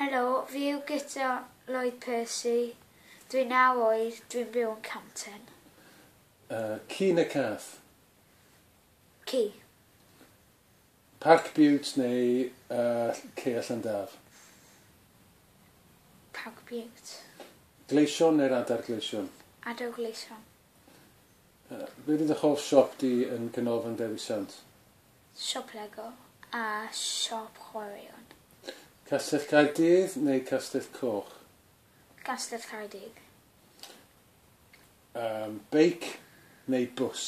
Helo, fi yw Guto Lloyd Percy. Dwi'n 9 oed, dwi'n byw yn Canton. Ci neu cath? Ci. Parc Bute neu Cea Llandaf? Parc Bute. Gleision neu'r adar gleision? Adar gleision. Be fydd dy hoff siop di yn Canolfan Dewi Sant? Siop Lego a siop chwaraeon. Castell Caerdydd neu Castell Coch? Castell Caerdydd. Beic neu bws?